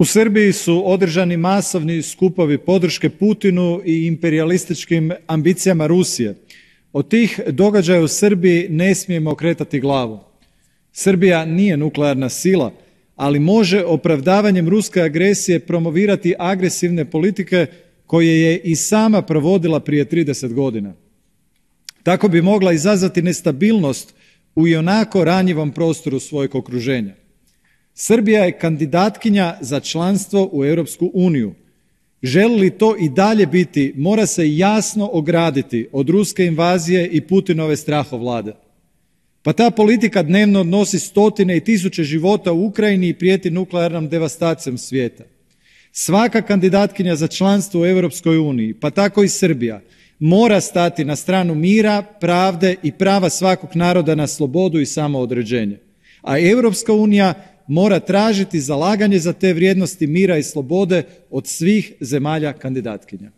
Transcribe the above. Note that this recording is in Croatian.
U Srbiji su održani masovni skupovi podrške Putinu i imperijalističkim ambicijama Rusije. Od tih događaja u Srbiji ne smijemo okretati glavu. Srbija nije nuklearna sila, ali može opravdavanjem ruske agresije promovirati agresivne politike koje je i sama provodila prije 30 godina. Tako bi mogla izazvati nestabilnost u ionako ranjivom prostoru svojeg okruženja. Srbija je kandidatkinja za članstvo u Europsku uniju. Želi li to i dalje biti, mora se jasno ograditi od ruske invazije i Putinove strahovlade. Pa ta politika dnevno odnosi stotine i tisuće života u Ukrajini i prijeti nuklearnom devastacijom svijeta. Svaka kandidatkinja za članstvo u Europskoj uniji, pa tako i Srbija, mora stati na stranu mira, pravde i prava svakog naroda na slobodu i samoodređenje. A Europska unija mora tražiti zalaganje za te vrijednosti mira i slobode od svih zemalja kandidatkinja.